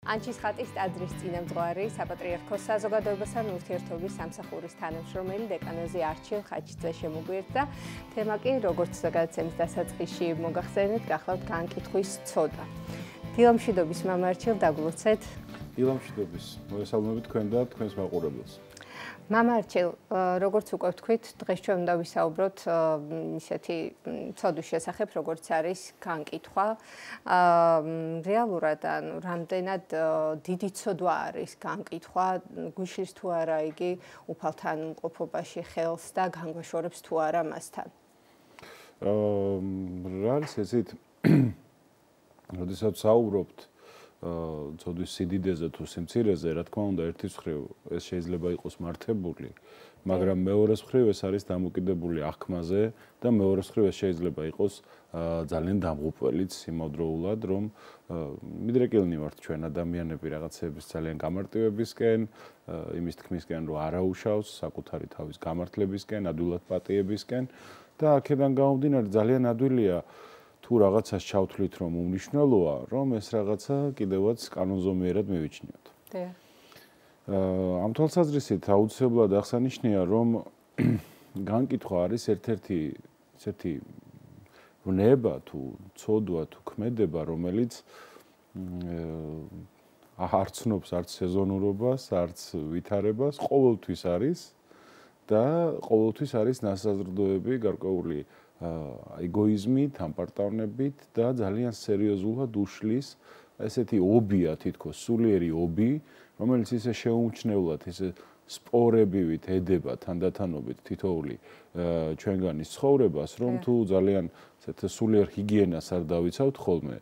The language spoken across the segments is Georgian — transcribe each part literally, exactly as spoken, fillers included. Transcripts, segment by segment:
ანჩის ხატის ტაძრის წინამძღვარი, საპატრიარქოს საზოგადოებასთან ურთიერთობის სამსახურის თანამშრომელი დეკანოზი არჩილ ხაჩიძე შემოგვიერთდა. თემა კი როგორც გადაცემის დასაწყისში მოგახსენეთ, გახლავთ განკითხვის ცოდვა. დილამშვიდობის მამა არჩილ, დაგლოცეთ. დილამშვიდობის. მოგესალმებით თქვენ და თქვენს მაყურებელს. მამა არჩილ, როგორც უკვე ვთქვით, დღეს ჩვენ უნდა ვისაუბროთ ისეთი ცოდვის შესახებ, როგორც არის განკითხვა. რეალურად ანუ რამდენად დიდი ცოდვა არის განკითხვა, გვიშლის თუ არა იგი უფალთან მყოფობაში ხელს და განგვაშორებს თუ არა მასთან. რა არის ესეთ როდესაც საუბრობთ ცოდვის სიდიდეზე თუ სიმცირეზე, რა თქმა უნდა, ერთის მხრივ ეს შეიძლება იყოს მართებული, მაგრამ მეორეს მხრივ ეს არის დამოკიდებული აღქმაზე და მეორეს მხრივ ეს შეიძლება იყოს ძალიან დამღუპველიც იმავდროულად, რომ მიდრეკილნი ვართ ჩვენ ადამიანები რაღაცების ძალიან გამარტივებისკენ, იმის თქმისკენ, რომ არაუშავს საკუთარი თავის გამართლებისკენ, ადვილად პატიებისკენ და აქედან გამომდინარე ძალიან ადვილია თუ რაღაცას ჩავთვლით, რომ უმნიშვნელოა, რომ ეს რაღაცა კიდევაც კანონზომიერად მივიჩნიოთ. დიახ. ამ თვალსაზრისით აუცილებლად აღსანიშნია, რომ განკითხვა არის ერთ-ერთი ესეთი ვნება თუ ცოდვა თუ ქმედება, რომელიც არ ცნობს არც სეზონურობას, არც ვითარებას, ყოველთვის არის და ყოველთვის არის ნასაზრდოები გარკვეული ეგოიზმი, თანპარტავნებით და ძალიან სერიოზულად უშლის ესეთი ობია თითქოს სულიერი ობი, რომელიც ისე შეუმჩნევლად, ისე სპორებივით ედება თანდათანობით თითოეული ჩვენგანის ცხოვრებას, რომ თუ ძალიან ესეთ სულიერ ჰიგიენას არ დავიცავთ ხოლმე,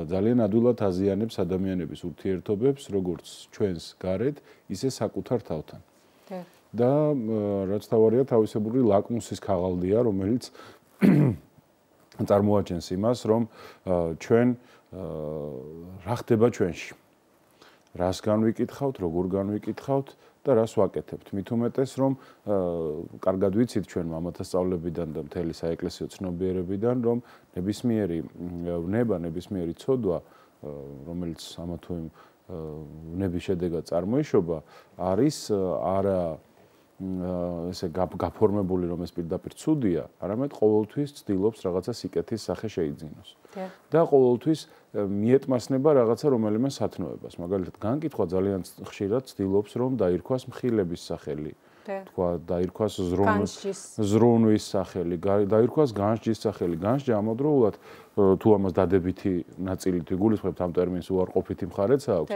ძალიან ადვილად აზიანებს ადამიანების ურთიერთობებს, როგორც ჩვენს გარეთ, ისე საკუთარ თავთან. და რაც თავარია თავისებური ლაკმუსის ქაღალდია, რომელიც წარმოაჩენს იმას, რომ ჩვენ რა ხდება ჩვენში. რას განვიკითხავთ, როგორ განვიკითხავთ და რას ვაკეთებთ. მით უმეტეს, რომ კარგად ვიცით ჩვენ მამათა სწავლებიდან და მთელი საეკლესიო ცნობიერებიდან, რომ ნებისმიერი ვნება, ნებისმიერი ცოდვა, რომელიც ამა თუ იმ ვნების შედეგად წარმოიშობა, არის არა ესე გაფორმებული, რომ ეს პირდაპირ ცუდია, არამედ ყოველთვის ცდილობს რაღაცა სიკეთის სახე შეიძინოს. და ყოველთვის მიეტმასნება რაღაცა რომელიმე სათნოებას. მაგალითად, განკითხვა ძალიან ხშირად ცდილობს, რომ დაირქვას მხილების სახელი. თქვა, დაირქვას ზრუნვის სახელი, დაირქვას განსჯის სახელი. განსჯა ამავდროულად თუ ამას დადებითი ნაწილით ვიგულისხმებთ, ამ ტერმინს უარყოფითი მხარეც აქვს.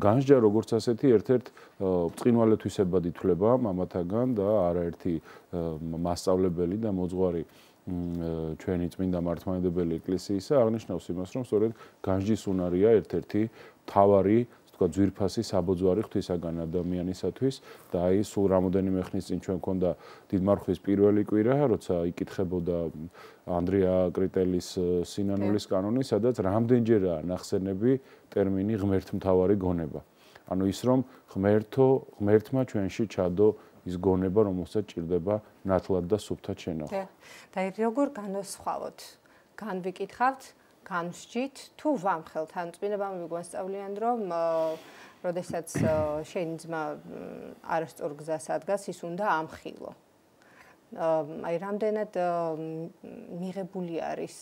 განსჯა როგორც ასეთი ერთ-ერთ ბრწყინვალეთვისებად ითვლება მამათაგან და არაერთი მასწავლებელი და მოძღვარი ჩვენი წმინდა მართლმადიდებელი ეკლესიისა აღნიშნავს იმას, რომ სწორედ განსჯის უნარია ერთ-ერთი მთავარი თქვა ძვირფასი საბოძვარი ღვთისაგან ადამიანისათვის და აი სულ რამოდენიმე ხნის წინ ჩვენ მქონდა დიდმარხვის პირველი კვირა, როცა იკითხებოდა ანდრია კრიტელის სინანულის კანონი, სადაც რამდენჯერაა ნახსენები ტერმინი ღმერთმთავარი გონება. ანუ ის რომ ღმერთო, ღმერთმა ჩვენში ჩადო ის გონება, რომელსაც ჭირდება ნათლად და სუფთად შენახვა. და როგორ განვსხვავოთ? განვიკითხავთ, განვსჯით თუ ვამხელთ? ან წმინდა ბაბები გვასწავლიან, რომ როდესაც შენი ძმა არასწორ გზას ადგას, ის უნდა ამხილო. აი რამდენად მიღებული არის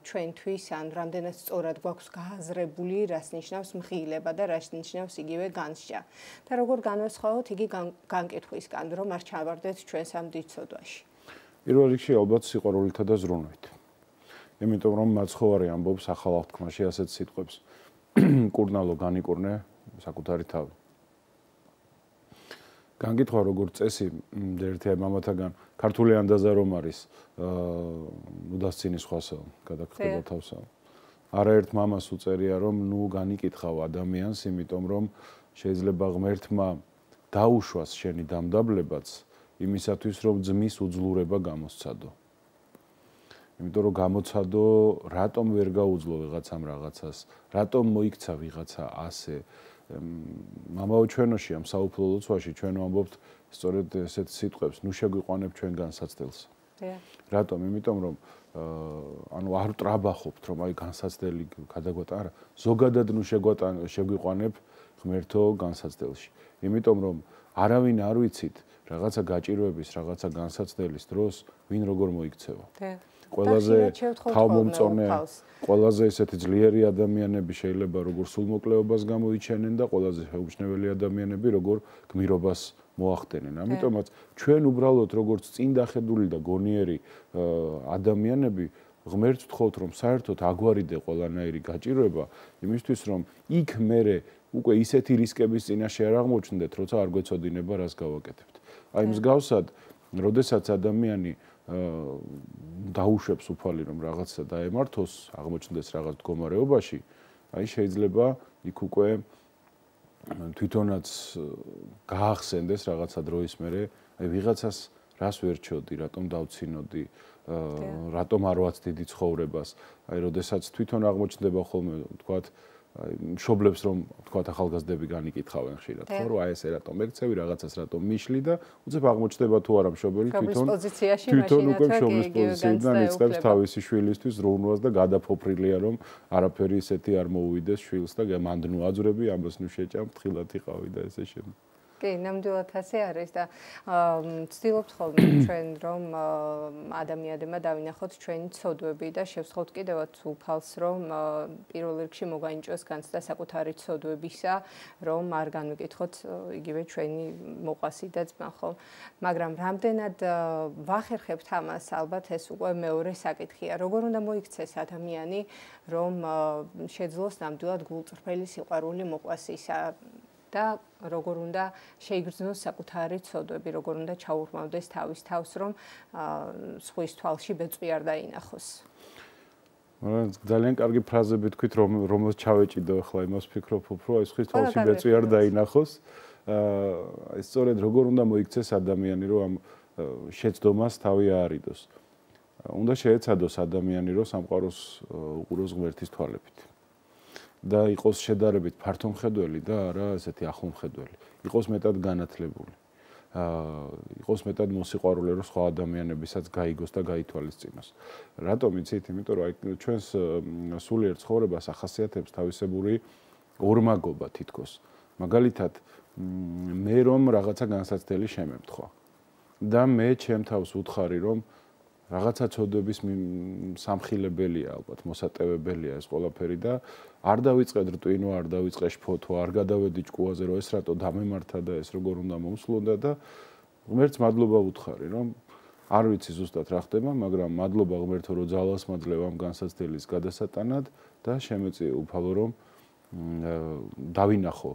ჩვენთვის, ან რამდენად სწორად გვაქვს გააზრებული, რას ნიშნავს მხილება და რას ნიშნავს იგივე განსჯა. და როგორ განვსხვავოთ იგი განკითხვისგან, რომ არ ჩავარდეთ ჩვენს ამ დიდ ცოდვაში. პირველ რიგში ალბათ სიყვარულითა და ზრუნვით. იმიტომ რომ მაცხოვარი ამბობს ახალ აღთქმაში ასეთ სიტყვებს. კურნალო განიკურნე საკუთარი თავი. განკითხვა როგორც წესი ერთი მამათაგან ქართული ანდაზა რომ არის ნუდასცინის სხვასა გადაგხდება თავსა. არაერთ მამას უწერია რომ ნუ განიკითხავ ადამიანს, იმიტომ რომ შეიძლება ღმერთმა დაუშვას შენი დამდაბლებაც იმისათვის რომ ძმის უძლურება გამოსცადო. იმიტომ რომ გამოცადო, რატომ ვერ გაუძლო ვიღაცამ რაღაცას, რატომ მოიქცა ვიღაცა ასე. მამაო ჩვენოში ამ საუფლო ლოცვაში ჩვენ ვამბობთ სწორედ ესეთ სიტყვებს, ნუ შეგვიყვანებ ჩვენ განსაცდელს. რატომ? იმიტომ რომ ანუ არ ტრაბახობთ რომ აი განსაცდელი გადაგვატან, არა, ზოგადად ნუ შეგვატან შეგვიყვანებ ღმერთო განსაცდელში. იმიტომ რომ არავინ არ ვიცით რაღაცა გაჭირვების, რაღაცა განსაცდელის დროს ვინ როგორ მოიქცევა. ყველაზე თავმომწონე, ყველაზე ესეთი ძლიერი ადამიანები შეიძლება როგორ სულმოკლეობას გამოიჩენენ და ყველაზე შეუმჩნეველი ადამიანები როგორ გმირობას მოახდენენ. ამიტომაც ჩვენ უბრალოდ როგორც წინ დახედული და გონიერი ადამიანები ღმერთს ვთხოვთ რომ საერთოდ აგვარიდე ყველანაირი გაჭირვება, იმისთვის რომ იქ მერე უკვე ისეთი რისკების წინაშე არ აღმოჩნდეთ, როცა არ გვეცოდინება რას გავაკეთებთ. აი მსგავსად, როდესაც ადამიანი დაუშვებს უფალი რომ რაღაცა დაემართოს, აღმოჩნდეს რაღაც მდგომარეობაში, აი შეიძლება იქ უკვე თვითონაც გაახსენდეს რაღაცა დროის მერე, აი ვიღაცას რას ვერჩიოდი, რატომ დავცინოდი, რატომ არ ვაცდი დიდი ცხოვრებას. აი როდესაც თვითონ აღმოჩნდება ხოლმე, თქვათ, აი მშობლებს რომ თქვათ ახალგაზრდები განიკითხავენ ხშირად, ხო, რომ აი ესე რატომ მეკცევი, რაღაცას რატომ მიშლი და უცებ აღმოჩნდება თუ არა მშობელი თვითონ თვითონ უკვე მშობლის პოზიციიდან იწყებს თავისი შვილისთვის ზრუნვას და გადაფოფრილია რომ არაფერი ისეთი არ მოუვიდეს შვილს და მანდ ნუ აძვრები, ამას ნუ შეჭამ, თხილად იყავი და ესე შემდეგ. კი, ნამდვილად ასე არის და ვცდილობთ ხოლმე ჩვენ რომ ადამიანებმა დავინახოთ ჩვენი ცოდვები და შევსხოთ კიდევაც უფალს რომ პირველ რიგში მოგაინჭოს განცდა საკუთარი ცოდვებისა, რომ არ განვიკითხოთ იგივე ჩვენი მოყვასი და ძმა ხო. მაგრამ რამდენად ვახერხებთ ამას, ალბათ ეს უკვე მეორე საკითხია. როგორ უნდა მოიქცეს ადამიანი, რომ შეძლოს ნამდვილად გულწრფელი სიყვარული მოყვასისა და როგორ უნდა შეიგრძნოს საკუთარი ცოდვები, როგორ უნდა ჩაურმავდეს თავის თავს, რომ სხვის თვალში ბეწვი არ დაინახოს. ძალიან კარგი ფრაზები თქვით, რომ რომელს ჩავეჭიდო ახლა იმას ვფიქრობ, რომ აი სხვის თვალში ბეწვი არ დაინახოს. აი სწორედ როგორ უნდა მოიქცეს ადამიანი, რომ ამ შეცდომას თავი აარიდოს. უნდა შეეცადოს ადამიანი, რომ სამყაროს უყუროს ღმერთის თვალებით. და იყოს შედარებით ფართომხედველი და არა ესეთი ახლომხედველი. იყოს მეტად განათლებული. აა იყოს მეტად მოსიყვარულე, რომ სხვა ადამიანებისაც გაიგოს და გაითვალისწინოს. რატომ იცით? იმიტომ რომ აი ჩვენს სულიერ ცხოვრებას ახასიათებს თავისებური ორმაგობა თითქოს. მაგალითად, მე რომ რაღაცა განსაცდელი შემემთხვა და მე ჩემ თავს ვუთხარი, რომ რაღაცა ცოდვების სამხილებელია, ალბათ მოსატევებელია ეს ყველაფერი და არ დავიწყე რტვინო, არ დავიწყე შფოთვა, არ გადავედი ჭკუაზე, რომ ეს რატო დამემართა და ეს როგორ უნდა მოусლონდა და ღმერთს მადლობა ვუთხარი, რომ არ ვიცი ზუსტად რა ხდება, მაგრამ მადლობა ღმერთო, რომ ძალას მაძლევ ამ განსაცდელის გადასატანად და შემეწიე უფალო, რომ დავინახო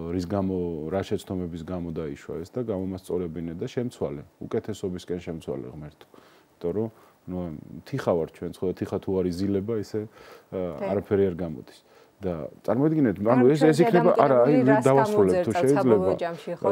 რის გამო, რა შეცდომების გამო დაიშვა ეს და გამომასწორებინე და შემცვალე, უკეთესობისკენ შემცვალე ღმერთო. იმიტომ რომ ნუ თიხა ვარ ჩვენ, ხო, თიხა თუ არ იზილება, ისე არაფერი არ გამოდის. და წარმოიდგინეთ, ანუ ეს ეს იქნება, არა, აი დავასრულებ თუ შეიძლება.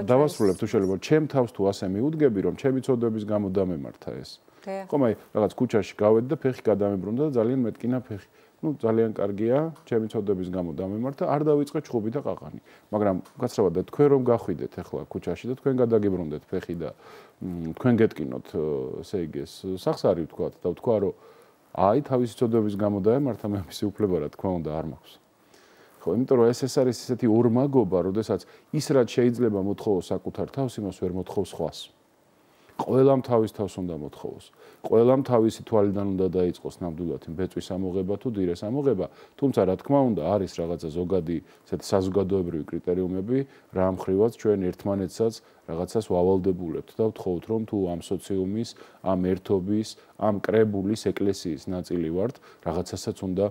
დავასრულებ თუ შეიძლება. ჩემ თავს თუ ასე მიუდგები, რომ ჩემი ცოდვების გამო დამემართა ეს. ხომ აი რაღაც ქუჩაში გავედი და ფეხი გადამებრუნდა და ძალიან მეტკინა ფეხი. ну ძალიან კარგია, ჩემი ცოდვების გამო დამემართა, არ დავიწყე ჩხუბი და ყაყანი. მაგრამ გაცრავად და თქვენ რომ გახვიდეთ ახლა ქუჩაში და თქვენ გადაგიბრუნდეთ ფეხი და თქვენ გეტკინოთ, ესე იგი ეს სახსარი ვთქვათ და ვთქვა რომ აი თავისი ცოდვების გამო დაემართა, მე ამისი უფლება რა თქმა უნდა არ მაქვს. ხო, იმიტომ რომ ეს ეს არის ესეთი ორმაგობა, როდესაც ის რაც შეიძლება მოთხოვოს საკუთარ თავს, იმას ვერ მოთხოვს სხვას. ყველამ თავის თავს უნდა მოთხოვოს. ყველამ თავისი თვალიდან უნდა დაიწყოს ნამდვილად ბეწვის ამოღება თუ დილეს ამოღება, თუმცა რა თქმა უნდა არის რაღაცა ზოგადი ესეთი საზოგადოებრივი კრიტერიუმები, რა მხრივაც ჩვენ ერთმანეთსაც რაღაცას ვავალდებულებთ და ვთხოვთ რომ თუ ამ სოციუმის, ამ ერთობის, ამ კრებულის ეკლესიის ნაწილი ვართ, რაღაცასაც უნდა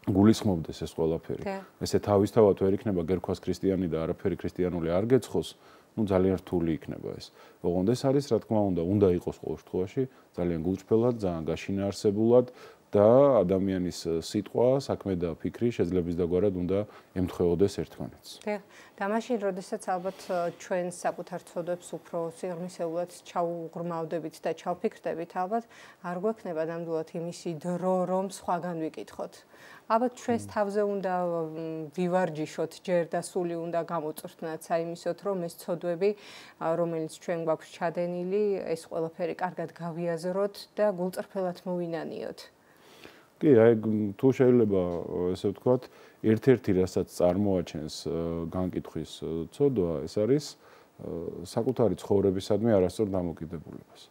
გულისხმობდეს ეს ყველაფერი. ესე თავისთავად ვერ იქნება გერქვას ქრისტიანი და არაფერი ქრისტიანული არ გეცხოს. ну ძალიან რთული იქნება ეს. ოღონდ ეს არის რა თქმა უნდა, უნდა იყოს ყოველ შემთხვევაში ძალიან გულწრფელად, ძალიან გაშინაარსებულად და ადამიანის სიტყვა, საქმე და ფიქრი შეძლებისდაგვარად უნდა ემთხვეოდეს ერთმანეთს. დიახ, და მაშინ, როდესაც ალბათ ჩვენ საკუთარ ცოდვებს უფრო სიღრმისეულად ჩაუღრმავდებით და ჩავფიქრდებით, ალბათ არ გვექნება ნამდვილად იმისი დრო, რომ სხვაგან ვიკითხოთ. ალბათ ჩვენს თავზე უნდა ვივარჯიშოთ ჯერ და სული უნდა გამოწვრთნათ საიმისოთ, რომ ეს ცოდვები, რომელიც ჩვენ გვაქვს ჩადენილი, ეს ყველაფერი კარგად გავიაზროთ და გულწრფელად მოვინანიოთ. კი, აი თუ შეიძლება ესე ვთქვათ, ერთ-ერთი რასაც წარმოაჩენს განკითხვის ცოდვა, ეს არის საკუთარი ცხოვრებისადმი არასწორ დამოკიდებულებას.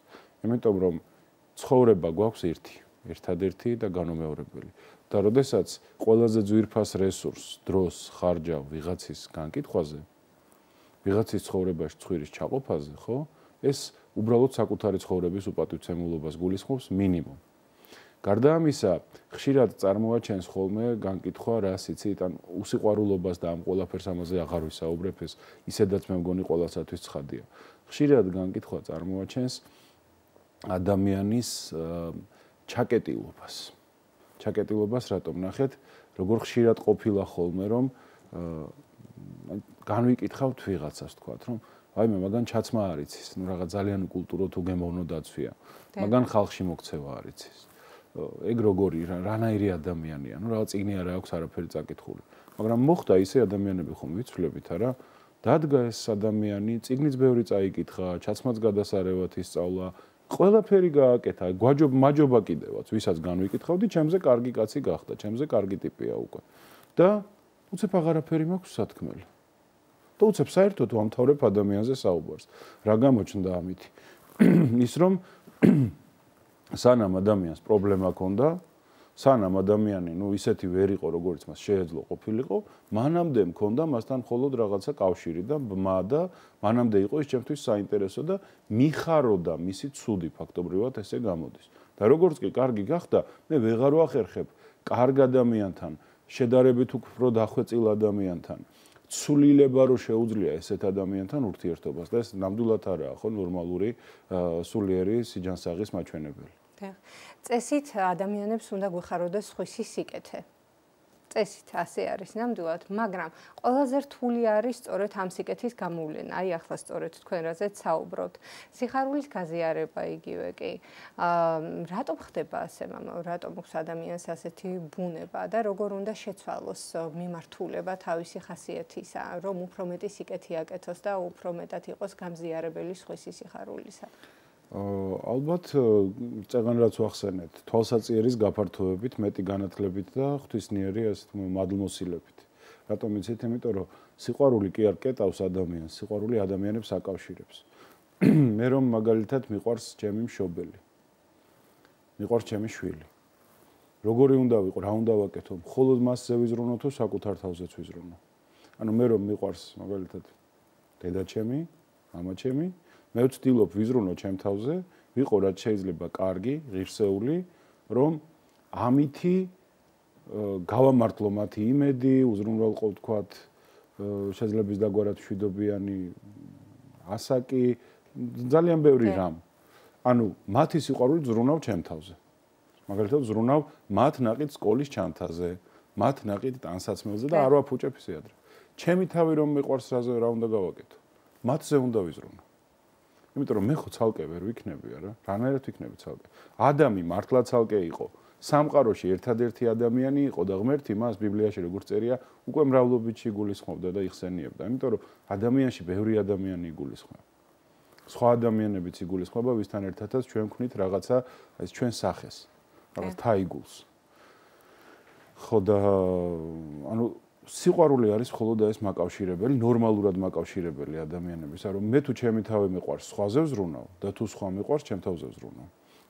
იმიტომ რომ ცხოვრება გვაქვს ერთი, ერთადერთი და განუმეორებელი. და როდესაც ყველაზე ძვირფას რესურსს, დროს, ხარჯავ ვიღაცის განკითხვაზე, ვიღაცის ცხოვრებაში ცხვირის ჩაყოფაზე, ხო? ეს უბრალოდ საკუთარი ცხოვრების უპატივცემულობას გულისხმობს მინიმუმ. გარდა ამისა, ხშირად წარმოაჩენს ხოლმე განკითხვა, რას იცით, ან უსიყვარულობას და ამ ყველაფერს ამაზე აღარ ვისაუბრებ, ეს ისედაც მე მგონი ყველასათვის ცხადია. ხშირად განკითხვა წარმოაჩენს ადამიანის ჩაკეტილობას. ჩაკეტილობას რატომ ნახეთ, როგორ ხშირად ყოფილა ხოლმე, რომ განვიკითხავთ ვიღაცას, თქვათ, რომ აი მე მაგან ჩაცმა არ იცის, ნუ რაღაც ძალიან უკულტურო თუ გემოვნო დაცვია. მაგან ხალხში მოქცევა არ იცის. ეგ როგორი რანაირი ადამიანია, ნუ რაღაც წიგნი არა აქვს არაფერი წაკითხული. მაგრამ მოხდა ისე ადამიანები ხომ ვიცვლებით არა? დადგა ეს ადამიანი, წიგნიც ბევრი წაიკითხა, ჩაცმაც გადასარევად ისწავლა, ყველაფერი გააკეთა, გვაჯობ მაჯობა კიდევაც, ვისაც განვიკითხავდი, ჩემზე კარგი კაცი გახდა, ჩემზე კარგი ტიპია უკვე. და უცებ აღარაფერი მაქვს სათქმელი. და უცებ საერთოდ ვამთავრებ ადამიანზე საუბარს. რა გამოჩნდა ამითი? ის რომ სანამ ადამიანს პრობლემა ჰქონდა, სანამ ადამიანი, ნუ ისეთი ვერ იყო, როგორც მას შეეძლო ყოფილიყო, მანამდე მქონდა მასთან მხოლოდ რაღაცა კავშირი და ბმა და მანამდე იყო ის ჩემთვის საინტერესო და მიხაროდა მისი ცუდი ფაქტობრივად ესე გამოდის. და როგორც კი კარგი გახდა, მე ვეღარ ვახერხებ კარგ ადამიანთან, შედარებით უფრო დახვეწილ ადამიანთან, ცვლილება რო შეუძლია ესეთ ადამიანთან ურთიერთობას და ეს ნამდვილად არაა ხო ნორმალური სულიერი სიჯანსაღის მაჩვენებელი. წესით ადამიანებს უნდა გვეხაროდეს სხვისი სიკეთე. წესით ასე არის ნამდვილად, მაგრამ ყველაზე რთული არის სწორედ ამ სიკეთის გამოვლენა. აი ახლა სწორედ თქვენ რაზეც საუბრობთ. სიხარულის გაზიარება იგივე კი. აა რატომ ხდება ასე, მამა? რატომ აქვს ადამიანს ასეთი ბუნება და როგორ უნდა შეცვალოს მიმართულება თავისი ხასიათისა, რომ უფრო მეტი სიკეთი აკეთოს და უფრო მეტად იყოს გამზიარებელი სხვისი სიხარულისა? ალბათ წეგან რაც ვახსენეთ, თვალსაწიერის გაფართოებით, მეტი განათლებით და ღვთისმიერი ასეთ მადლმოსილებით. რატომ იცით? იმიტომ რომ სიყვარული კი არ კეტავს ადამიანს, სიყვარული ადამიანებს აკავშირებს. მე რომ მაგალითად მიყვარს ჩემი მშობელი. მიყვარს ჩემი შვილი. როგორი უნდა ვიყო, რა უნდა ვაკეთო? მხოლოდ მასზე ვიზრუნო თუ საკუთარ თავზეც ვიზრუნო? ანუ მე რომ მიყვარს მაგალითად დედა ჩემი, მამა ჩემი, მე ვცდილობ ვიზრუნო ჩემ თავზე, ვიყო რაც შეიძლება კარგი, ღირსეული, რომ ამითი გავამართლო მათი იმედი, უზრუნველყო ვთქვათ, შეძლების დაგვარად მშვიდობიანი ასაკი, ძალიან ბევრი რამ. ანუ მათი სიყვარული ზრუნავ ჩემ თავზე. მაგალითად ზრუნავ მათ ნაყიდ სკოლის ჩანთაზე, მათ ნაყიდ ტანსაცმელზე და არ ვაფუჭებ ისე ადრე. ჩემი თავი რომ მიყვარს რაზე რა უნდა გავაკეთო? მათზე უნდა ვიზრუნო. იმიტომ რომ მე ხო ცალკე ვერ ვიქნები არა? რანაირად ვიქნები ცალკე? ადამი მართლა ცალკე იყო. სამყაროში ერთადერთი ადამიანი იყო და ღმერთი მას ბიბლიაში როგორც წერია, უკვე მრავლობით იგულისხმობდა და იხსენიებდა. იმიტომ რომ ადამიანში ბევრი ადამიანი იგულისხმება. სხვა ადამიანებიც იგულისხმება, ვისთან ერთადაც ჩვენ ვქნით რაღაცა ეს ჩვენ სახეს. რაღაც თაიგულს. ხო და ანუ სიყვარული არის მხოლოდ ეს მაკავშირებელი, ნორმალურად მაკავშირებელი ადამიანების, რომ მე თუ ჩემი თავი მიყვარს, სხვაზე ვზრუნავ და თუ სხვა მიყვარს, ჩემ თავზე ვზრუნავ.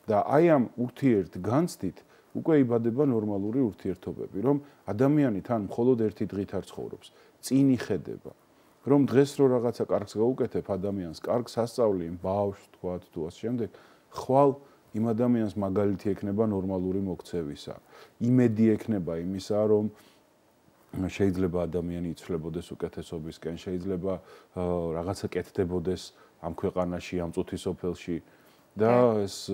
და აი ამ ურთიერთ განცდით უკვე იბადება ნორმალური ურთიერთობები, რომ ადამიანი თან მხოლოდ ერთი დღით არ ცხოვრობს, წინ იხედება. რომ დღეს რო რაღაცა კარგს გაუკეთებ ადამიანს, კარგს ასწავლი იმ ბავშვს, თქვათ, თუ ასე შემდეგ, ხვალ იმ ადამიანს მაგალითი ექნება ნორმალური მოქცევისა. იმედი ექნება იმისა, რომ შეიძლება ადამიანი იცვლებოდეს უკეთესობისკენ, შეიძლება რაღაცა კეთდებოდეს ამ ქვეყანაში, ამ წუთის სოფელში და ეს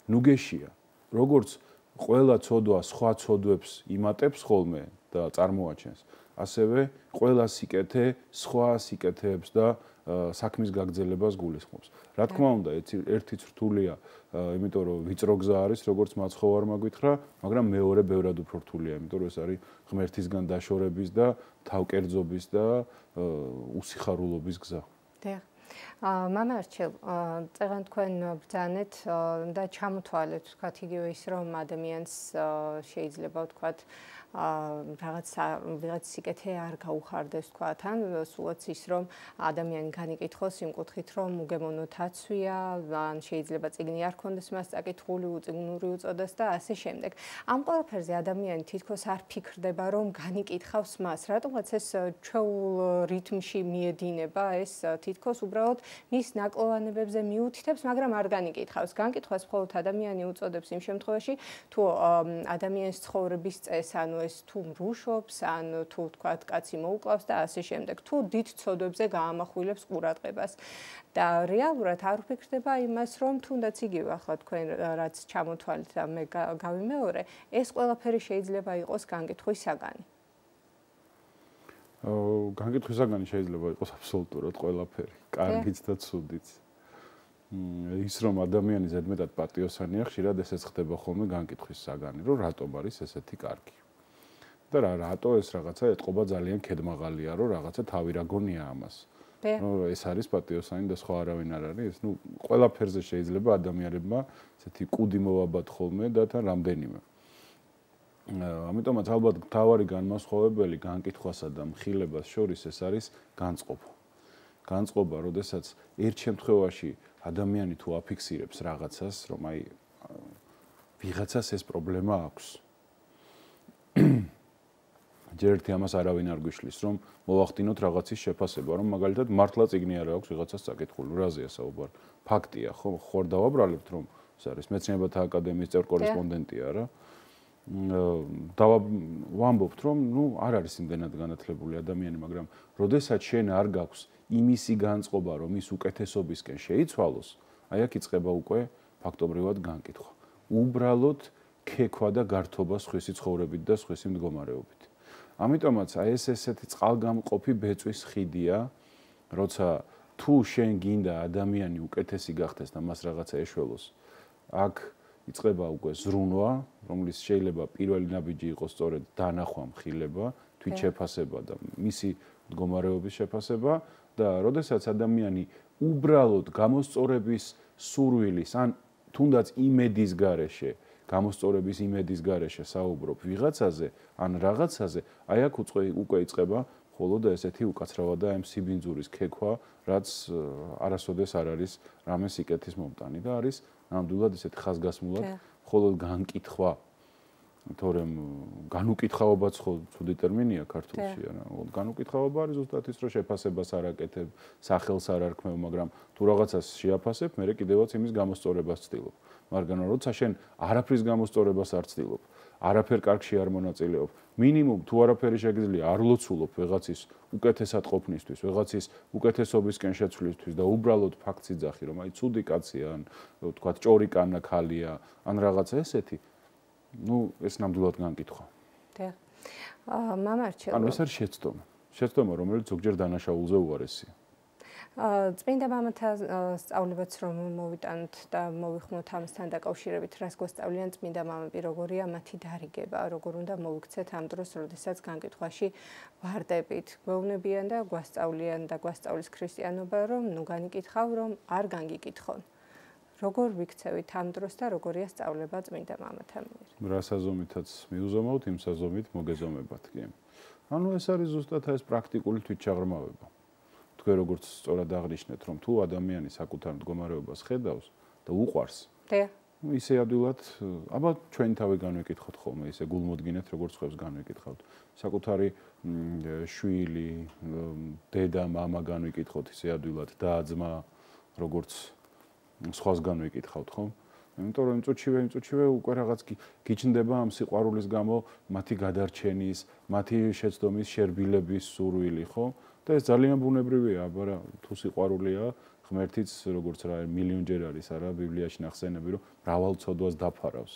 ნუგეშია. როგორც ყველა ცოდვა სხვა ცოდვებს იმატებს ხოლმე და წარმოაჩენს. ასევე ყველა სიკეთე სხვა სიკეთეებს და საქმის გაგრძელებას გულისხმობს. რა თქმა უნდა, ერთი რთულია, იმიტომ რომ ვიწრო გზა არის, როგორც მაცხოვარმა გითხრა, მაგრამ მეორე ბევრად უფრო რთულია, იმიტომ რომ ეს არის ღმერთისგან დაშორების და თავკერძობის და უსიხარულობის გზა. დიახ. მამა არჩილ, წეგან თქვენ ბრძანეთ და ჩამოთვალეთ, ვთქვათ, იგივე ის რომ ადამიანს შეიძლება ვთქვათ რაღაც ვიღაც სიკეთე არ გაუხარდეს ვთქვათ, ან სულაც ის რომ ადამიანი განიკითხოს იმ კუთხით რომ უგემოვნო თაცვია, ან შეიძლება წიგნი არ ქონდეს მას წაკითხული, უწიგნური უწოდეს და ასე შემდეგ. ამ ყველაფერზე ადამიანი თითქოს არ ფიქრდება რომ განიკითხავს მას, რატომაც ეს ჩვეულ რითმში მიედინება, ეს თითქოს უბრალოდ მის ნაკლოვანებებზე მიუთითებს, მაგრამ არ განიკითხავს. განკითხვას მხოლოდ ადამიანი უწოდებს იმ შემთხვევაში, თუ ადამიანის ცხოვრების წესს, ანუ ეს თუ მრუშობს, ან თუ თქვათ, კაცი მოუკლავს და ასე შემდეგ. თუ დიდ ცოდვებზე გაამახვილებს ყურადღებას. და რეალურად არ ვფიქრდება იმას, რომ თუნდაც იგივე ახლა თქვენ რაც ჩამოთვალეთ და მე გავიმეორე, ეს ყველაფერი შეიძლება იყოს განკითხვის საგანი. განკითხვის საგანი შეიძლება იყოს აბსოლუტურად ყველაფერი, კარგიც და ცუდიც. ის რომ ადამიანი ზედმეტად პატიოსანია, ხშირად ესეც ხდება ხოლმე განკითხვის საგანი, რომ რატომ არის ესეთი კარგი. და რა რატო ეს რაღაცა ეთყობა ძალიან ქედმაღალია, რომ რაღაცა თავი რა გონია ამას. ნუ ეს არის პატიოსანი და სხვა არავინ არ არის. ნუ ყველაფერზე შეიძლება ადამიანებმა ესეთი კუდი მოვაბათ ხოლმე და თან რამდენიმე. ამიტომაც ალბათ მთავარი განმასხვავებელი განკითხვასა და მხილებას შორის ეს არის განწყობა. განწყობა, როდესაც ერთ შემთხვევაში ადამიანი თუ აფიქსირებს რაღაცას, რომ აი ვიღაცას ეს პრობლემა აქვს. ჯერ ერთი ამას არავინ არ გვიშლის, რომ მოვახდინოთ რაღაცის შეფასება, რომ მაგალითად მართლა წიგნი არ აქვს ვიღაცას წაკითხული, რაზეა საუბარი? ფაქტია, ხო, ხوار დავაბრალებთ, რომ ეს არის მეცნიერებათა აკადემიის წევრ კორესპონდენტია რა. და ვამბობთ, რომ ნუ არ არის იმდენად განათლებული ადამიანი, მაგრამ როდესაც შენ არ გაქვს იმისი განწყობა, რომ ის უკეთესობისკენ შეიცვალოს, აი აქ იწყება უკვე ფაქტობრივად განკითხვა. უბრალოდ ქექვა და გართობა სხვისი ცხოვრებით და სხვისი მდგომარეობით. ამიტომაც აი ეს ესეთი წყალგამყოფი ბეწვის ხიდია, როცა თუ შენ გინდა ადამიანი უკეთესი გახდეს და მას რაღაცა ეშველოს, აქ იწყება უკვე ზრუნვა, რომლის შეიძლება პირველი ნაბიჯი იყოს სწორედ დანახვა, მხილება, თვითშეფასება და მისი მდგომარეობის შეფასება და როდესაც ადამიანი უბრალოდ გამოსწორების სურვილის ან თუნდაც იმედის გარეშე გამოსწორების იმედის გარეშე საუბრობ ვიღაცაზე ან რაღაცაზე, აი აქ უკვე იწყება ხოლო და ესეთი უკაცრავა და ამ სიბინძურის ქექვა, რაც არასოდეს არ არის რამე სიკეთის მომტანი და არის ნამდვილად ესეთი ხაზგასმულად ხოლო განკითხვა, თორემ განუკითხაობაც ხო ცუდი ტერმინია ქართულში, არა? განუკითხაობა არის ზუსტად ის, რომ შეფასებას არ აკეთებ, სახელს არ არქმევ, მაგრამ თუ რაღაცას შეაფასებ, მე კიდევაც იმის გამოსწორებას ვცდილობ. მაგრამ როცა შენ არაფრის გამოსწორებას არ ვცდილობ, არაფერ კარგში არ მონაწილეობ, მინიმუმ თუ არაფერი შეგიძლია არ ლოცულობ ვიღაცის უკეთესად ყოფნისთვის, ვიღაცის უკეთესობისკენ შეცვლისთვის და უბრალოდ ფაქტს იძახი, რომ აი ცუდი კაცია, ან ვთქვათ ჭორი კანა ქალია, ან რაღაცა ესეთი, ну, ეს ნამდვილად განკითხვა. დიახ. აა მამა არჩილ. ანუ ეს არის შეცდომა. შეცდომა, რომელიც ზოგჯერ დანაშაულზე უარესია. წმინდა მამათა სწავლებაც რომ მოვიტანოთ და მოვიხმოთ ამასთან დაკავშირებით, რას გვასწავლიან წმინდა მამები, როგორია მათი დარიგება, როგორ უნდა მოვიქცეთ ამ დროს, როდესაც განკითხვაში ვარდებით. გვეუბნებიან და გვასწავლიან და გვასწავლის ქრისტიანობა, რომ ნუ განიკითხავ, რომ არ განგიკითხონ. როგორ ვიქცევით ამ დროს და როგორია სწავლება წმინდა მამათა მიერ? რა საზომითაც მიუზომავთ, იმ საზომით მოგეზომებათ, კი. ანუ ეს არის ზუსტად ეს პრაქტიკული თვითშაღრმავება. თქვენ როგორც სწორად აღნიშნეთ, რომ თუ ადამიანი საკუთარ მდგომარეობას ხედავს და უყვარს, დიახ. ისე ადვილად, აბა ჩვენ თავი განვეკითხოთ ხოლმე, ისე გულმოდგინეთ, როგორც ხებს განვეკითხავთ. საკუთარი შვილი, დედა, მამა განვეკითხოთ ისე ადვილად, და ძმა, როგორც სხვას განვეკითხავთ, ხო? იმიტომ რომ წუჩივე, წუჩივე უკვე რაღაც გიჩნდება ამ სიყვარულის გამო მათი გადარჩენის, მათი შეცდომის, შერბილების სურვილი, ხო? და ეს ძალიან ბუნებრივია, აბა თუ სიყვარულია, ღმერთიც როგორც რა მილიონჯერ არის არა ბიბლიაში ნახსენები, რომ მრავალ ცოდვას დაფარავს.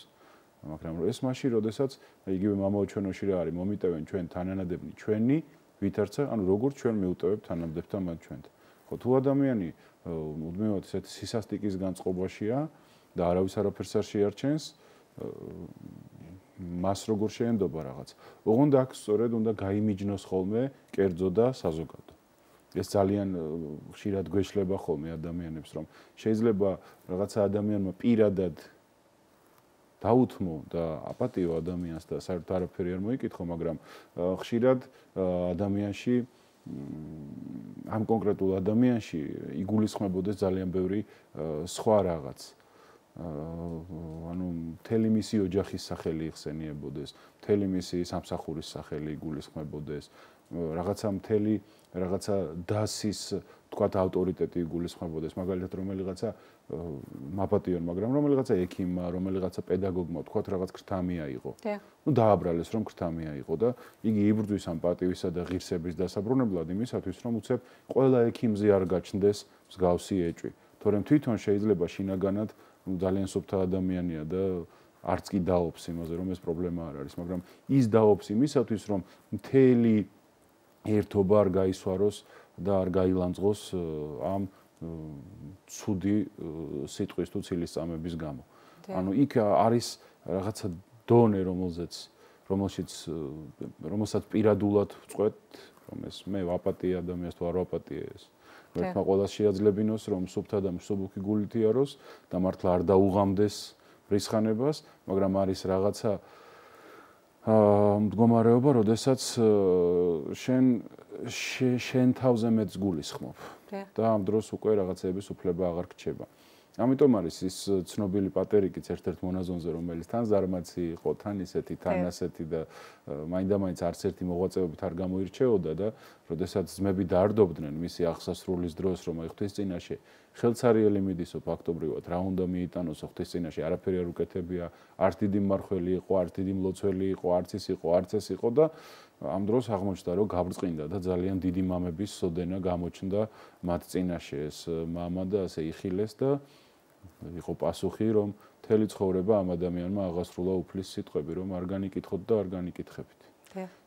მაგრამ ეს მაშინ, როდესაც იგივე მამაო ჩვენოში რა არის, მომიტევენ ჩვენ თანანადებნი ჩვენი, ვითარცა, ანუ როგორც ჩვენ მიუტევებთ თანამდებთან მათ ჩვენთან. ხო, თუ ადამიანი მუდმივად ესეთ სისასტიკის განწყობაშია და არავის არაფერს არ შეარჩენს, მას როგორ შეენდობა რაღაც. ოღონდ აქ სწორედ უნდა გაიმიჯნოს ხოლმე კერძო და საზოგადო. ეს ძალიან ხშირად გვეშლება ხოლმე ადამიანებს, რომ შეიძლება რაღაცა ადამიანმა პირადად დაუთმო და აპატიო ადამიანს და საერთოდ არაფერი არ მოიკითხო, მაგრამ ხშირად ადამიანში ამ კონკრეტულ ადამიანში იგულისხმებოდეს ძალიან ბევრი სხვა რაღაც. ანუ მთელი მისი ოჯახის სახელი იხსენიებოდეს, მთელი მისი სამსახურის სახელი იგულისხმებოდეს, რაღაცა მთელი რაღაცა დასის, თქვათ, ავტორიტეტი იგულისხმებოდეს, მაგალითად რომელიღაცა მაპატიონ, მაგრამ რომელიღაცა ექიმმა, რომელიღაცა პედაგოგმა, თქვათ, რაღაც ქრთამია იყო. ნუ დააბრალეს, რომ ქრთამია იყო და იგი იბრძვის ამ პატივისა და ღირსების დასაბრუნებლად იმისათვის, რომ უცებ ყველა ექიმზე არ გაჩნდეს მსგავსი ეჭვი. თორემ თვითონ შეიძლება შინაგანად ძალიან სუფთა ადამიანია და არც კი დაობს იმაზე, რომ ეს პრობლემა არ არის, მაგრამ ის დაობს იმისათვის, რომ მთელი ერთობა არ გაისვაროს და არ გაილანძღოს ამ ცუდი სიტყვის თუ ცილისწამების გამო. ანუ იქ არის რაღაცა დონე, რომელზეც რომელშიც რომელსაც პირადულად ვწყვეტ, რომ ეს მე ვაპატიე ადამიანს თუ არ ვაპატიე ეს. ერთმა ყველას შეაძლებინოს, რომ სუფთა და მსუბუქი გულით იაროს და მართლა არ დაუღამდეს რისხანებას, მაგრამ არის რაღაცა მდგომარეობა, როდესაც შენ შენ თავზე მეც გულისხმობ და ამ დროს უკვე რაღაცების უფლება აღარ გრჩება. ამიტომ არის ის ცნობილი პატერიკიც ერთ-ერთ მონაზონზე, რომელიც თან ზარმაცი იყო, თან ისეთი, თან ასეთი და მაინდა-მაინც არც ერთი მოღვაწეობით არ გამოირჩეოდა და როდესაც ძმები დაარდობდნენ მისი აღსასრულის დროს, რომ აი ღვთისწინაშე ხელცარიელი მიდისო ფაქტობრივად, რა უნდა მიიტანოსო ღვთისწინაშე, არაფერი არ უკეთებია, არც დიდი მმართველი იყო, არც დიდი მლოცველი იყო, არც ის იყო, არც ეს იყო და ამ დროს აღმოჩნდა, რომ გაბრწყინდა და ძალიან დიდი მამების სოდენა გამოჩნდა მათ წინაშე. ეს მამა და ასე იხილეს და იყო პასუხი, რომ მთელი ცხოვრება ამ ადამიანმა აღასრულა უფლის სიტყვები, რომ არ განიკითხოთ და არ განიკითხებით.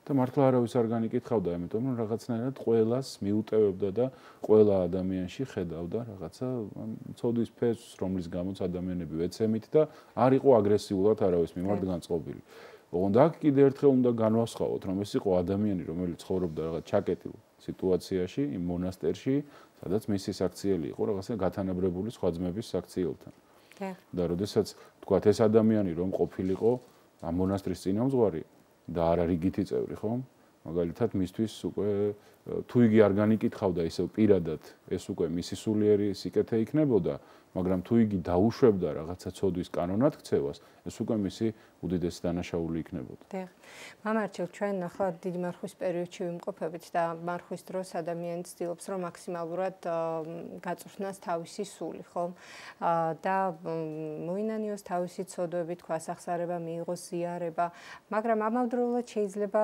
და მართლა არავის არ განიკითხავდა, იმიტომ რომ რაღაცნაირად ყველას მიუტევებდა და ყველა ადამიანში ხედავდა რაღაცა ცოდვის ფესვს, რომლის გამოც ადამიანები ვეცემით და არ იყო აგრესიულად არავის მიმართ განწყობილი. ოღონდ აქ კიდე ერთხელ უნდა განვასხვაოთ, რომ ეს იყო ადამიანი, რომელიც ცხოვრობდა რაღაც ჩაკეტილ სიტუაციაში, იმ მონასტერში, სადაც მისი საქციელი იყო რაღაცა გათანაბრებული სხვა ძმების საქციელთან. და როდესაც თქვათ ეს ადამიანი რომ ყოფილიყო ამ მონასტრის წინამძღვარი და არა რიგითი წევრი, ხო? მაგალითად მისთვის უკვე თუ იგი არ განიკითხავდა ისევ პირადად, ეს უკვე მისი სულიერი სიკეთე იქნებოდა, მაგრამ თუ იგი დაუშვებდა რაღაცა ცოდვის კანონად ქცევას, ეს უკვე მისი უდიდესი დანაშაული იქნებოდა. დიახ. მამარჩილ, ჩვენ ახლა დიდი მარხვის პერიოდში ვიმყოფებით და მარხვის დროს ადამიანი ცდილობს, რომ მაქსიმალურად გაწვრთნას თავისი სული, ხო? და მოინანიოს თავისი ცოდვები, თქვას ახსარება, მიიღოს ზიარება, მაგრამ ამავდროულად შეიძლება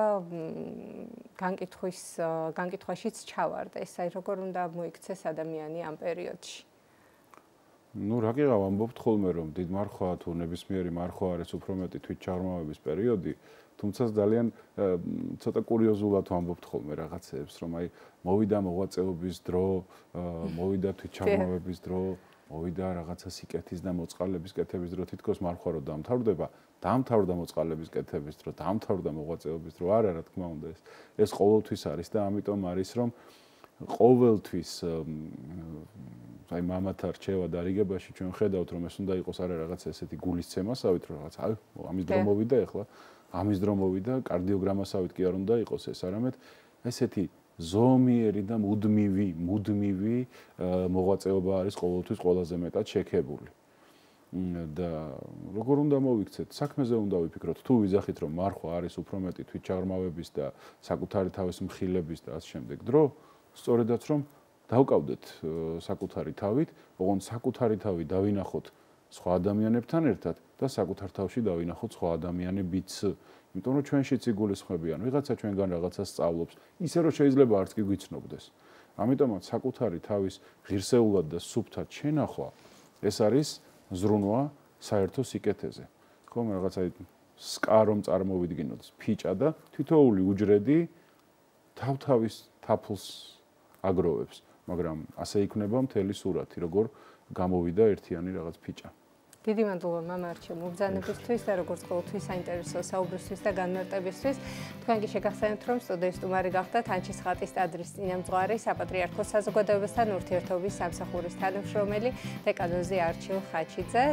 განკითხვის განკითხვაშიც ჩავარდეს. აი როგორ უნდა მოიქცეს ადამიანი ამ პერიოდში? Ну, რა გიყავ ამბობთ ხოლმე, რომ დიდ მარხვა თუ ნებისმიერი მარხვა არის უფრო მეტი თვითჩაღრმავების პერიოდი, თუმცა ძალიან ცოტა კურიოზულად ვამბობთ ხოლმე რაღაცეებს, რომ აი მოვიდა მოღვაწეობის დრო, მოვიდა თვითჩაღრმავების დრო, მოვიდა რაღაცა სიკეთის და მოწყალების კეთების დრო, თითქოს მარხვა რო დამთავრდება, დამთავრდა მოწყალების კეთების დრო, დამთავრდა მოღვაწეობის დრო, არა, რა თქმა უნდა, ეს ეს ყოველთვის არის და ამიტომ არის, რომ ყოველთვის აი მამათა რჩევა და რიგებაში ჩვენ ხედავთ რომ ეს უნდა იყოს არა რაღაც ესეთი გულისცემასავით რომ რაღაც აი ამის დრო მოვიდა ეხლა ამის დრო მოვიდა კარდიოგრამასავით კი არ უნდა იყოს ეს არამედ ესეთი ზომიერი და მუდმივი მუდმივი მოღვაწეობა არის ყოველთვის ყველაზე მეტად შექებული და როგორ უნდა მოვიქცეთ საქმეზე უნდა ვიფიქროთ თუ ვიზახით რომ მარხვა არის უფრო მეტი თვითჩაღრმავების და საკუთარი თავის მხილების და ამ შემდეგ დრო სწორედაც რომ დავკავდეთ საკუთარი თავით, ოღონდ საკუთარი თავი დავინახოთ სხვა ადამიანებთან ერთად და საკუთარ თავში დავინახოთ სხვა ადამიანებიც. იმიტომ რომ ჩვენშიც იგულისხმებიან, ვიღაცა ჩვენგან რაღაცას სწავლობს, ისე რომ შეიძლება არც კი გვიცნობდეს. ამიტომაც საკუთარი თავის ღირსეულად და სუფთად შენახვა ეს არის ზრუნვა საერთო სიკეთეზე. ხომ რაღაც აი სკა რომ წარმოვიდგინოთ, ფიჭა და თითოეული უჯრედი თავ-თავის თაფლს აგროვებს, მაგრამ ასე იქნება მთელი სურათი, როგორ გამოვიდა ერთიანი რაღაც ფიჭა. დიდი მადლობა მამარჩო მობრძანებისთვის და როგორც ყოველთვის საინტერესო საუბრისთვის და განმარტებისთვის. თქვენ კი შეგახსენებთ, რომ სტუდიის სტუმარი გახდათ ანჩის ხატის ტაძრის წინამძღვარი, საპატრიარქოს საზოგადოებასთან ურთიერთობის სამსახურის თანამშრომელი დეკანოზი არჩილ ხაჩიძე.